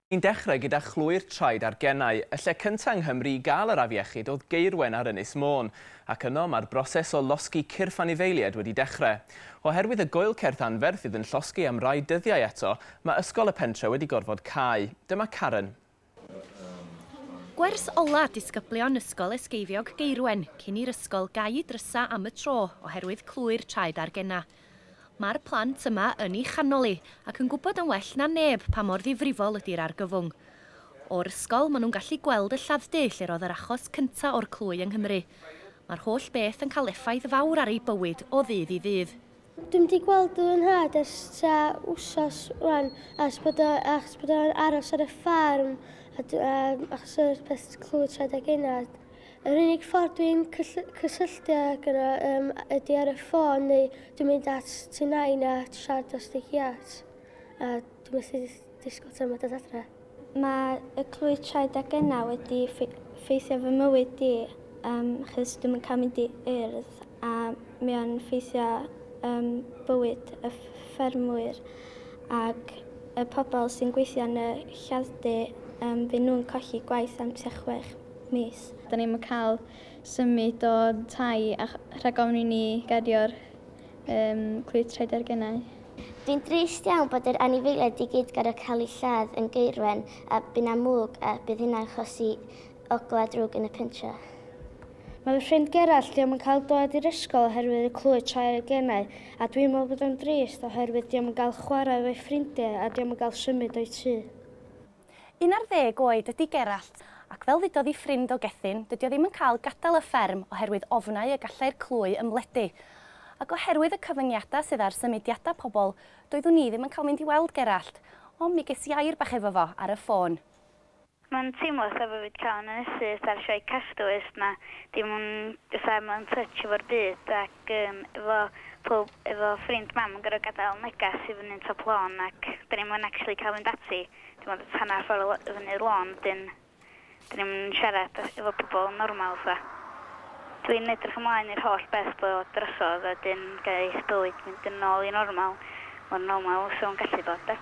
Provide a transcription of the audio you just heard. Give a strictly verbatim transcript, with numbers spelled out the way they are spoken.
Ni'n dechrau gyda chlwy'r traed a'r genau. Y lle cyntaf yng Nghymru i gael yr afiechyd oedd Gaerwen ar Ynys Môn, ac yno mae'r broses o losgi cyrff anifeiliaid wedi dechrau. Oherwydd y goelcerth anferth fydd yn llosgi am rai dyddiau eto, mae ysgol y pentre wedi gorfod cau. Dyma Karen. Gwers ola disgyblion Ysgol Esgeifiog Gaerwen cyn i'r ysgol gau ei drysa am y tro oherwydd clwy'r traed a'r genau. Mae'r plant yma yn ei chanol hi ac yn gwybod yn well na neb pa mor ddifrifol ydy'r argyfwng. O'r ysgol, maen nhw'n gallu gweld y lladd-dy lle roedd yr achos cyntaf o'r clwy yng Nghymru. Mae'r holl beth yn cael effaith fawr ar eu bywyd o ddydd i ddydd. Dwi'm wedi gweld fy nhad ers tua wsos rwan, achos bod o, achos bod o'n aros ar y ffarm, a, a, achos o'r peth clwy traed a genau. Yr unig ffordd dwi'n cysylltu ag yno um, ydy ar y ffôn neu dwi'n mynd at tŷ nain a siarad dros y giat. A dwi'n methu disgwyl tan ma dod adre. Mae y clwy traed a genau wedi ffeithio fy mywyd i, um, achos dwi'm yn cael mynd i urdd a mae o'n ffeithio um, bywyd y ffermwyr ac y pobl sy'n gweithio yn y lladd-dy, um, fy nhw'n colli gwaith am tua chwech mis. Da ni'n cael symud o tai a rhag ofn i ni gario'r um, clwy traed a'r genau. Dwi'n drist iawn bod yr anifeiliaid i gyd gorfod cael eu lladd yn Gaerwen a bydd 'na mwg a bydd hynna'n achosi ogla drwg yn y pentre. Mae fy ffrind Gerallt dio'm yn cael dod i'r ysgol oherwydd y clwy traed a'r genau, a dwi'n meddwl bod o'n drist oherwydd dio'm yn cael chwarae efo'i ffrindiau a dio'm yn cael symud o'i tŷ. Un ar ddeg oed ydy Gerallt, ac fel ddudodd ei ffrind o Gethin, dydy o ddim yn cael gadael y fferm oherwydd ofnau y gallai'r clwy ymledu. Ac oherwydd y cyfyngiadau sydd ar symudiadau pobl, doeddwn ni ddim yn cael mynd i weld Gerallt, ond mi ges i air bach efo fo ar y ffôn. Mae'n teimlo fatha bod fi wedi cael yn ynysu ar sioe Castaway na dim ond fatha mewn touch efo'r byd ac um, efo, pob, efo ffrind mam yn gorfod gadael negas i fyny'n top lôn ac da ni'n mynd actually cael fynd ati. Dim ond hanner ffordd fyny'r lôn, dyn da ni'n siarad efo pobl normal fatha. Dwi'n edrych ymlaen i'r holl beth bod drosodd a dyn gael bywyd mynd yn ôl i normal, mor normal so yn gallu bod de.